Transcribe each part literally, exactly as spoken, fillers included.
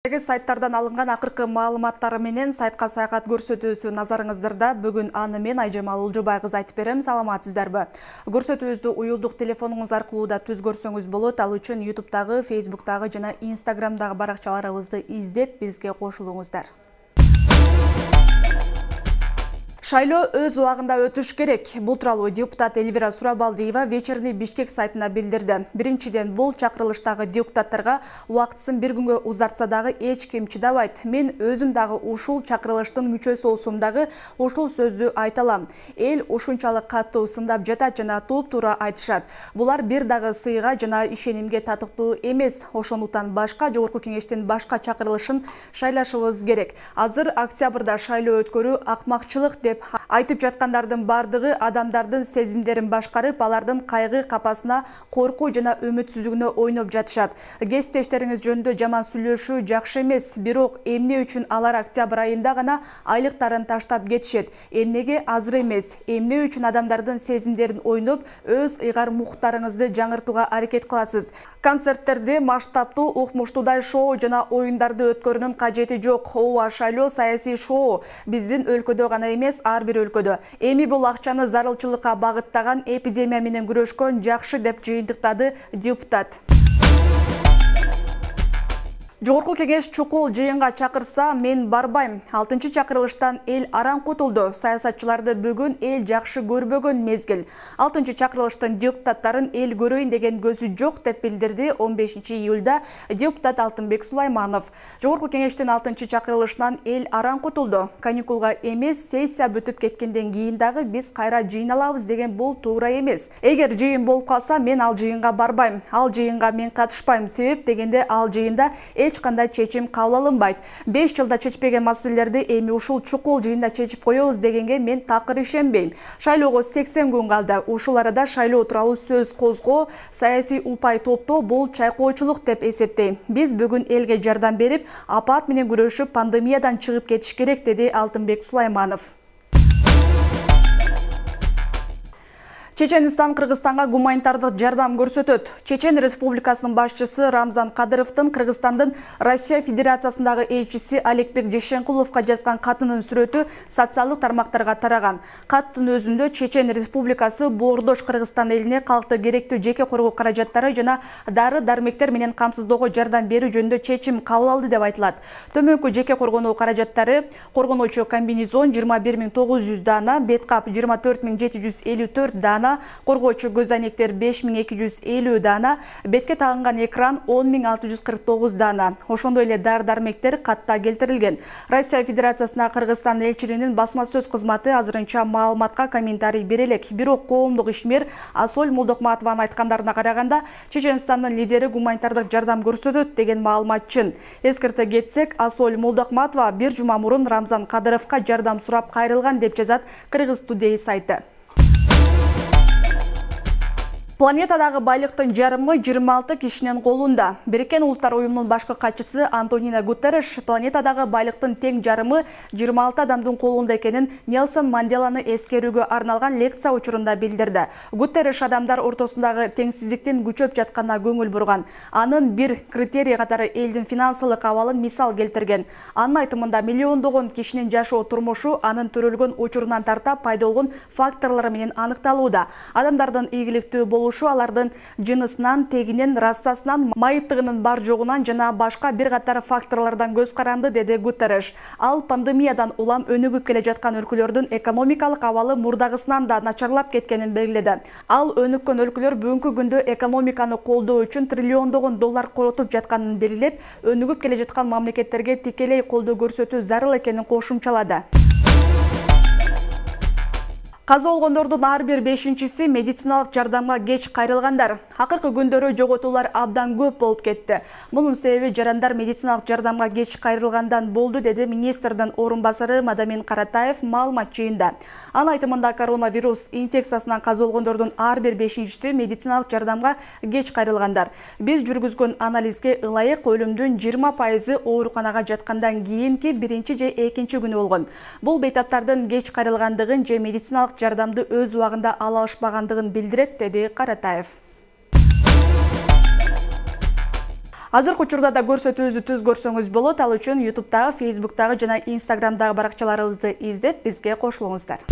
Сайттардан алынган акыркы маалыматтары менен сайтка саякат көрсөтүүсү назарыңыздарда. Бүгүн аны мен Айжамал Улжубай кыз айтып берем. Саламатсыздарбы? Көрсөтүүбүздү уюлдук телефонуңуз аркылуу да түз көрсөңүз болот. Ал үчүн ютубтагы, фейсбуктагы жана инстаграмдагы баракчаларыбызды издеп бизге кошулуңуздар. Шайлоо өз убагында өтүш керек. Бул тууралуу депутат Эльвира Сурабалдиева Вечерний Бишкек сайтына билдирди. Биринчиден, бул чакырылыштагы депутаттарга убактысын бир күнгө узартса дагы эч ким чыдабайт. Мен өзүм дагы ушул чакырылыштын мүчөсү болсом дагы ушул сөздү айта алам. Эл ушунчалык катуу сындап жатат жана туп-туура айтышат. Булар бир дагы сыйга жана ишенимге татыктуу эмес. Ошондуктан башка жогорку кеңештин башка чакырылышын шайлашыбыз керек. Азыр октябрда шайлоо өткөрүү акмакчылык деп айтып жаткандардын бардыгы адамдардын сезимдерин башкарып, алардын кайгы капасына, коркуу жана үмүтсүздүгүнө ойноп жатышат. Кесиптештериңиз жөнүндө жаман сүйлөшүү жакшы эмес, бирок эмне үчүн алар октябрь айында гана айлыктарын таштап кетишет? Эмнеге азыр эмес? Эмне үчүн адамдардын сезимдерин ойноп, өз ыйгар муктарыңызды жаңыртууга аракет кыласыз? Концерттерди масштабтуу, укмуштуудай шоу жана оюндарды өткөрүүнүн кажети жок. Ооба, шайлоо саясий шоу. Биздин өлкөдө гана эмес, ар бир өлкөдө. Эми бул акчаны зарылчылыкка багыттаган, эпидемия менен күрөшкөн жакшы деп жыйынтыктады депутат. Жогорку кеңеш чукул жыйынга чакырса, мен барбайм. алтынчы чакырылыштан эл араң кутулду. Саясатчыларды бүгүн эл жакшы көрбөгөн мезгил. алтынчы чакырылыштын депутаттарын эл көрөйүн деген көзү жок деп билдирди он бешинчи июлда депутат Алтынбек Сулайманов. Жогорку кеңештин алтынчы чакырылышынан эл араң кутулду. Каникулга эмес, сессия бүтүп кеткенден кийин дагы биз кайра жыйналабыз деген бул туура эмес. Эгер жыйын болуп калса, мен ал жыйынга барбайм. Ал жыйынга мен катышпайм. Себеп дегенде ал жыйында эч кандай чечим кабыл алынбайт. беш жылда чечпеген маселелерди эми ушул чукул жыйында чечип коебуз дегенге мен такыр ишенбейм. Шайлоого сексен күн калды. Ушул арада шайлоо тууралуу сөз козгоо, саясий упай топтоо бул чайкоочулук деп эсептейм. Биз бүгүн элге жардам берип, апат менен күрөшүп, пандемиядан чыгып кетиш керек, деди Алтынбек Сулайманов. Чеченстан Кыргызстанга гуманитардык жардам көрсөтөт. Чечен Республикасынын башчысы Рамзан Кадыровдун Кыргызстандын Россия Федерациясындагы элчиси Алекбек Жешенкуловго жазган катынын сүрөтү социалдык тармактарга тараган. Каттын өзүндө Чечен Республикасы боордош Кыргызстан элине калкты керектүү жеке коргоо каражаттары жана дары-дармектер менен камсыздоого жардам берүү жөнүндө чечим кабыл алды деп айтылат. Төмөнкү жеке коргонуу каражаттары: коргонуучу комбинезон жыйырма бир миң тогуз жүз дана, бет кап жыйырма төрт миң жети жүз элүү төрт дана, коргоочу көз айнектер беш миң эки жүз элүү дана, бетке тагынган экран он миң алты жүз кырк тогуз дана. Ошондой эле дары-дармектер катта келтирилген. Россия Федерациясына Кыргызстан элчилигинин басма сөз кызматы азырынча маалыматка комментарий бере элек. Бирок коомдук ишмер Асоль Молдокматованын айткандарына караганда, Чеченстандын лидери гуманитардык жардам көрсөтөт деген маалымат чын. Эскерте кетсек, Асоль Молдокматова бир жума мурун Рамзан Кадыровго жардам сурап кайрылган деп жазат Кыргыз Today сайты. Планетадагы байлыктын жарымы жыйырма алты кишинин колунда. Бириккен Улуттар уюмунун башкы катчысы Антонио Гутерриш планетадагы байлыктын тең жарымы жыйырма алты адамдын колунда экенин Нелсон Манделаны эскерүүгө арналган лекция учурунда билдирди. Гутерриш адамдар ортосундагы теңсиздиктин күчөп жатканына көңүл бурган. Анын бир критерий катары элдин финансылык абалын мисал келтирген. Анын айтымында миллиондогон кишинин жашоо турмушу анын төрөлгөн учурунан тарта пайда болгон факторлор менен аныкталууда. Адамдардын ийгиликтүү болушу алардын жынысынан, тегинен, расасынан, майыттыгынын бар жогунан жана башка бир катар факторлордон көз каранды, деди Гутерриш. Ал пандемиядан улам өнүгүп келе жаткан өлкөлөрдүн экономикалык абалы мурдагысынан да начарлап кеткенин белгиледи. Ал өнүккөн өлкөлөр бүгүнкү күндө экономиканы колдоо үчүн триллиондогон доллар коротуп жатканын белгилеп, өнүгүп келе жаткан мамлекеттерге тикелей колдоо көрсөтүү зарыл экенин кошумчалады. Каза болгондордун ар бир бешинчиси медициналык жардамга кеч кайрылгандар. Акыркы күндөрү жоготуулар абдан көп болуп кетти. Мунун себеби жарандар медициналык жардамга кеч кайрылгандан болду, деди министрдин орун басары Мадамин Каратаев маалымат жыйында. Анын айтымында коронавирус инфекциясынан каза болгондордун ар бир бешинчиси медициналык жардамга кеч кайрылгандар. Биз жүргүзгөн анализге ылайык өлүмдүн жыйырма пайызы ооруканага жаткандан кийинки биринчи же экинчи күнү болгон. Бул бейтаптардын кеч кайрылгандыгын же медициналык жардамды өз убагында ала алышпагандыгын билдирет, деди Каратаев. Азыркы учурда да көрсөтүүбүздү түз көрсөңүз болот. Ал үчүн ютубтагы, фейсбуктагы жана инстаграмдагы баракчаларыбызды издеп, бизге кошулуңуздар.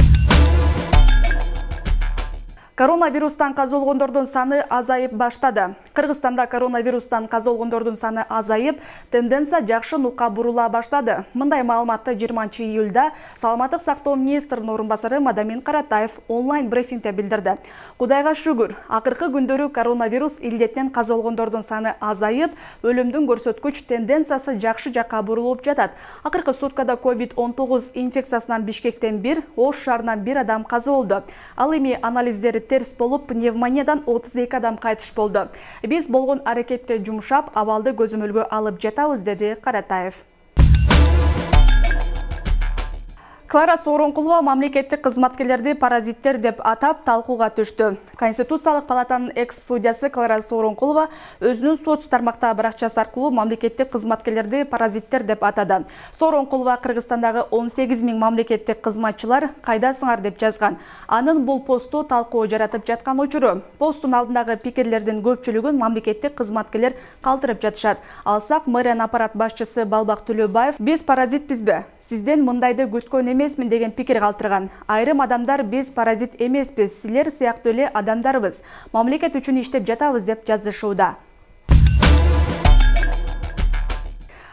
Коронавирустан каза болгондордун саны азайып баштады. Кыргызстанда коронавирустан каза болгондордун саны азайып, тенденция жакшы нукка бурула баштады. Мындай маалыматты жыйырманчы июлда Саламаттык сактоо министринин орун басары Мадамин Каратаев онлайн брифингде билдирди. Кудайга шүгүр, акыркы күндөрү коронавирус илдетинен каза болгондордун саны азайып, өлүмдүн көрсөткүч тенденциясы жакшы жакка бурулуп жатат. Акыркы суткада ковид он тогуз инфекциясынан Бишкектен бир, Ош шаарынан бир адам каза болду. Ал эми анализдери терс болуп, пневмониядан отуз эки адам кайтыш болду. Биз болгон аракетте жумшап, абалды көзөмөлгө алып жатабыз, деди Каратаев. Клара Сооронкулова мамлекеттик кызматкерлерди паразиттер деп атап талкууга түштү. Конституциялык палатанын экс-судьясы Клара Сооронкулова өзүнүн соц тармактагы баракчасы аркылуу мамлекеттик кызматкерлерди паразиттер деп атады. Сооронкулова Кыргызстандагы он сегиз миң мамлекеттик кызматчылар кайдасыңар деп жазган. Анын бул посту талкуу жаратып жаткан учуру. Посттун алдындагы пикирлердин көпчүлүгүн мамлекеттик кызматкерлер калтырып жатышат. Алсак, мэрия аппарат башчысы Балбак Төлөбаев: "Биз паразитпизби? Сизден мындайды күткөн эмесмин" деген пикир калтырган. Айрым адамдар: "Биз паразит эмеспиз, силер сыяктуу эле адамдарбыз. Мамлекет үчүн иштеп жатабыз" деп жазышууда.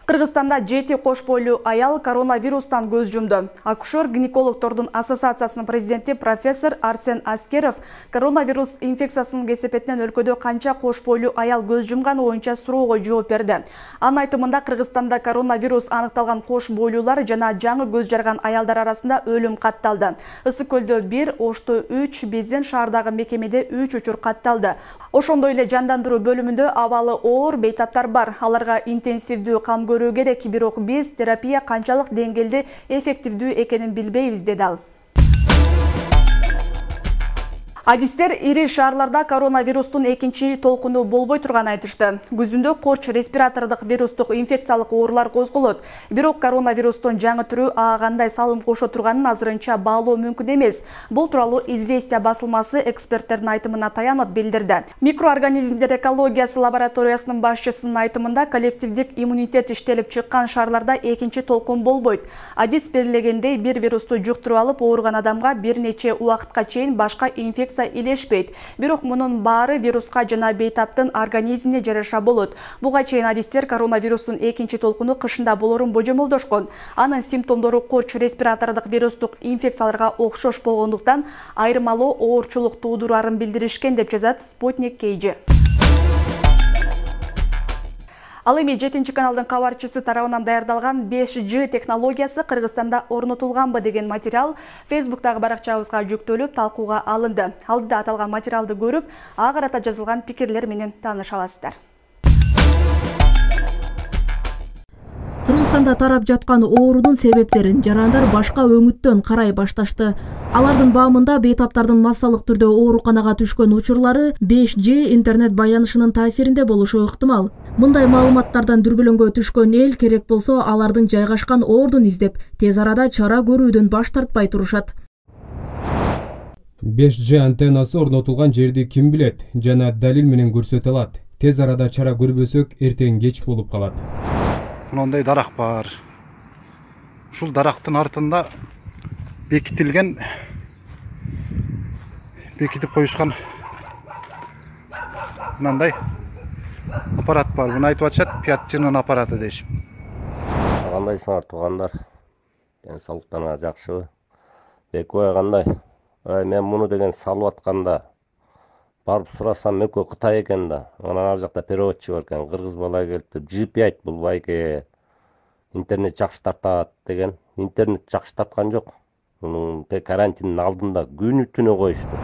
Кыргызстанда жети кош бойлуу аял коронавирустан көз жумду. Акушер-гинекологдордун ассоциациясынын президенти профессор Арсен Аскеров коронавирус инфекциясынын кесепетинен өлкөдө канча кош бойлуу аял көз жумганы боюнча суроого жооп берди. Анын айтымында Кыргызстанда коронавирус аныкталган кош бойлуулар жана жаңы көз жарган аялдар арасында өлүм катталды. Ысык көлдө бир, Ошто үч, Безен шаардагы мекемеде үч учур катталды. Ошондой эле жандандыруу бөлүмүндө абалы оор бейтаптар бар. Аларга интенсивдүү кам көрүү керек, бирок биз терапия канчалык деңгээлде эффективдүү экенин билбейбиз, деди ал. Адистер ири шаарларда коронавирустун экинчи толкуну болбой турганын айтышты. Күзүндө корч респиратордук вирустук инфекциялык оорулар козголот. Бирок коронавирустун жаңы түрү ага кандай салым кошо турганын азырынча баалоо мүмкүн эмес. Бул тууралуу Известия басылмасы эксперттердин айтымына таянып билдирди. Микроорганизмдер экологиясы лабораториясынын башчысынын айтымында коллективдик иммунитет иштелип чыккан шаарларда экинчи толкун болбойт. Адис белгилегендей, бир вирусту жуктуруп алып ооруган адамга бир нече убакытка чейин башка инфекция илешпейт. Бирок мунун баары вируска жана бейтаптын организмине жараша болот. Буга чейин адистер коронавирустун экинчи толкуну кышында болорун божомолдошкон. Анын симптомдору корч респиратордук вирустук инфекцияларга окшош болгондуктан айырмалуу оорчулук туудурарын билдиришкен, деп жазат Спутник кей джи. Ал эми жетинчи каналдын кабарчысы тарабынан даярдалган беш джи технологиясы Кыргызстанда орнотулганбы деген материал фейсбуктагы баракчабызга жүктөлүп талкууга алынды. Алдыда аталган материалды көрүп, ага карата жазылган пикирлер менен тааныша аласыздар. Кыргызстанда тарап жаткан оорунун себептерин жарандар башка өңүттөн карай башташты. Алардын баамында бейтаптардын массалык түрдө ооруканага түшкөн учурлары беш джи интернет байланышынын таасиринде болушу ыктымал. Мындай маалыматтардан дүрбөлөңгө түшкөн эл керек болсо алардын жайгашкан ордун издеп, тез арада чара көрүүдөн баш тартпай турушат. беш джи антеннасы орнотулган жерди ким билет жана далил менен көрсөтө алат. Тез арада чара көрбөсөк, эртең кеч болуп калат. Мындай дарак бар. Ушул дарактын артында бекитилген, бекитип коюшкан мындай аппарат бар. Муну айтып атышат, пятчынын аппараты дейшип. Кандайсыңар туугандар? Ден соолуктарыңар жакшыбы? Экөө кандай? Ай, мен муну деген салып атканда барып сурасам, экөө Кытай экен да. Анан ар жакта переводчу бар экен. Кыргыз бала келип, джи пи айт бул байке. Интернет жакшы тартат деген. Интернет жакшы тарткан жок. Мунун тек карантиндин алдында күнү түнү коюшту.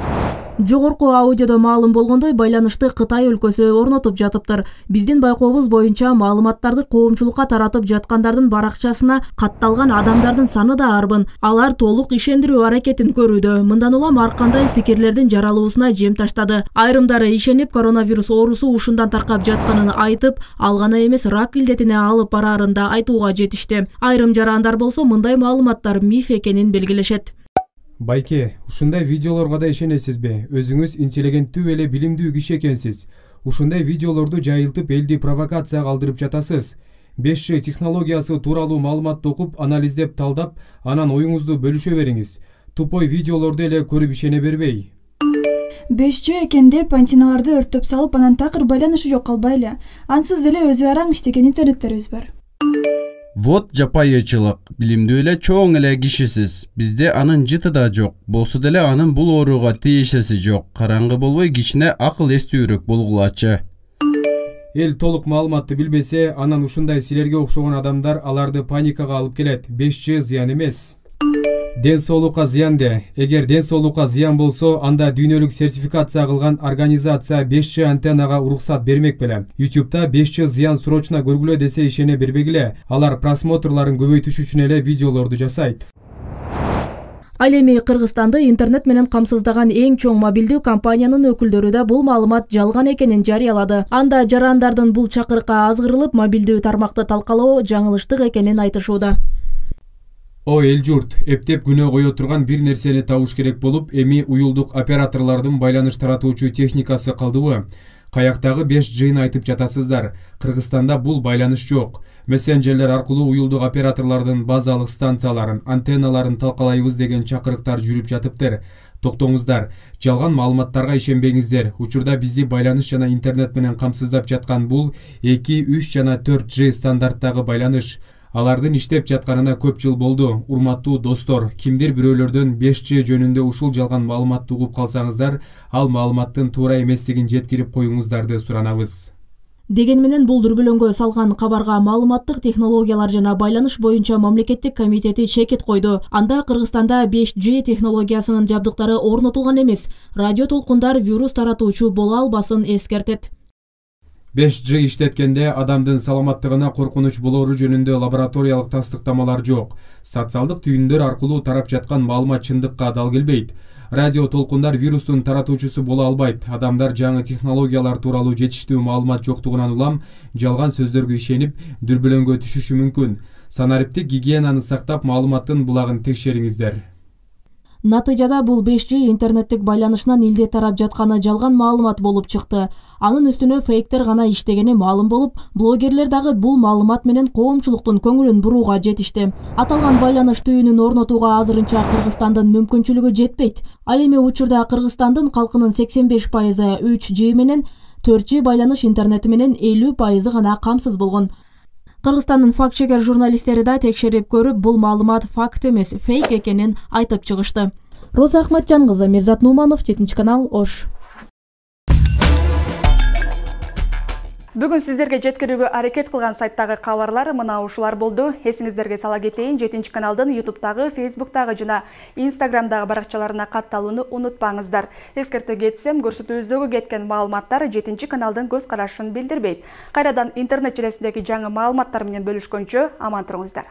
Жогорку аудиодо маалым болгондой, байланышты Кытай өлкөсү орнотуп жатыптыр. Биздин байкообуз боюнча маалыматтарды коомчулукка таратып жаткандардын баракчасына катталган адамдардын саны да арбын. Алар толук ишендирүү аракетин көрүүдө. Мындан улам ар кандай пикирлердин жаралуусуна жем таштады. Айрымдары ишенип, коронавирус оорусу ушундан таркап жатканын айтып, ал гана эмес, рак илдетине алып бараарын да айтууга жетишти. Айрым жарандар болсо мындай маалыматтар миф экенин белгилешет. Байке, ушундай видеолорго да ишенесизби? Өзүңүз интеллигенттүү эле билимдүү киши экенсиз. ушундай видеолорду жайылтып элди провокацияга алдырып жатасыз. беш джи технологиясы тууралуу маалыматты окуп, анализдеп, талдап, анан оюңузду бөлүшө бериңиз. Тупой видеолорду эле көрүп ишене бербей. беш джи экен деп антенналарды өрттөп салып, анан такыр байланышы жок калбайлы. Ансыз деле өзү араң иштеген интернеттерибиз бар. Вот жапайычылык. Билимдүү эле чоң эле кишисиз. Бизде анын жыты да жок. Болсо деле анын бул ооруга тиешеси жок. Караңгы болбой кичине акыл эстүүрөөк болгулачы. Эл толук маалыматты билбесе, анан ушундай силерге окшогон адамдар аларды паникага алып келет. беш джи зыян эмес. Ден соолукка зыян де. Эгер ден соолукка зыян болсо, анда дүйнөлүк сертификация кылган организация беш джи антеннага уруксат бермек беле. YouTube'да беш джи зыян суроочуна көргүлө десе ишене бербегиле. Алар просмотрларын көбөйтүш үчүн эле видеолорду жасайт. Ал эми Кыргызстанды интернет менен камсыздаган эң чоң мобилдүү компаниянын өкүлдөрү да бул маалымат жалган экенин жарыялады. Анда жарандардын бул чакырыкка азгырылып, мобилдүү тармакты талкалоо жаңылыштык экенин айтышууда. О эл журт, эптеп күнөө кое турган бир нерсени табыш керек болуп, эми уюлдук операторлордун байланыш таратуучу техникасы калдыбы? Каяктагы беш джини айтып жатасыздар. Кыргызстанда бул байланыш жок. Мессенджерлер аркылуу уюлдук операторлордун базалык станцияларын, антенналарын талкалайбыз деген чакырыктар жүрүп жатыптыр. Токтоңуздар, жалган маалыматтарга ишенбеңиздер. Учурда бизди байланыш жана интернет менен камсыздап жаткан бул эки, үч жана төрт джи стандарттагы байланыш. Алардын иштеп жатканына көп жыл болду. Урматтуу достор, кимдир бирөөлөрдөн беш джи жөнүндө ушул жалган маалыматты угуп калсаңыздар, ал маалыматтын туура эместигин жеткирип коюңуздарды суранабыз. Деген менен бул дүрбөлөңгө салган кабарга маалыматтык технологиялар жана байланыш боюнча мамлекеттик комитети шекит койду. Анда Кыргызстанда беш джи технологиясынын жабдыктары орнотулган эмес. Радио толкундар вирус таратуучу боло албасын эскертет. беш джи иштеткенде адамдын саламаттыгына коркунуч болору жөнүндө лабораториялык тастыктамалар жок. Социалдык түйүндөр аркылуу тарап жаткан маалымат чындыкка дал келбейт. Радио толкундар вирустун таратуучусу боло албайт. Адамдар жаңы технологиялар тууралуу жетиштүү маалымат жоктугунан улам жалган сөздөргө ишенип, дүрбөлөңгө түшүшү мүмкүн. Санариптик гигиенаны сактап, маалыматтын булагын текшериңиздер. Натыйжада бул беш джи интернеттик байланышынан илде тарап жатканы жалган маалымат болуп чыкты. Анын үстүнө фейктер гана иштегени маалым болуп, блогерлер дагы бул маалымат менен коомчулуктун көңүлүн бурууга жетишти. Аталган байланыш түйүнүн орнотууга азырынча Кыргызстандын мүмкүнчүлүгү жетпейт. Ал эми учурда Кыргызстандын калкынын сексен беш пайызы үч джи менен, төрт джи байланыш интернети менен элүү пайызы гана камсыз болгон. Кыргызстандын факт-чекер журналисттери да текшерип көрүп, бул маалымат факт эмес, фейк экенин айтып чыгышты. Роза Ахматжан кызы, Мирзат Нуманов, жетинчи канал, Ош. Бүгүн сиздерге жеткирүүгө аракет кылган сайттагы кабарлар мына ушулар болду. Эсиңиздерге сала кетейин, жетинчи каналдын ютубтагы, фейсбуктагы жана инстаграмдагы баракчаларына катталууну унутпаңыздар. Эскерте кетсем, көрсөтүүбүздөгү кеткен маалыматтар жетинчи каналдын көз карашын билдирбейт. Кайрадан интернет желесиндеги жаңы маалыматтар менен бөлүшкөнчө аман туруңуздар.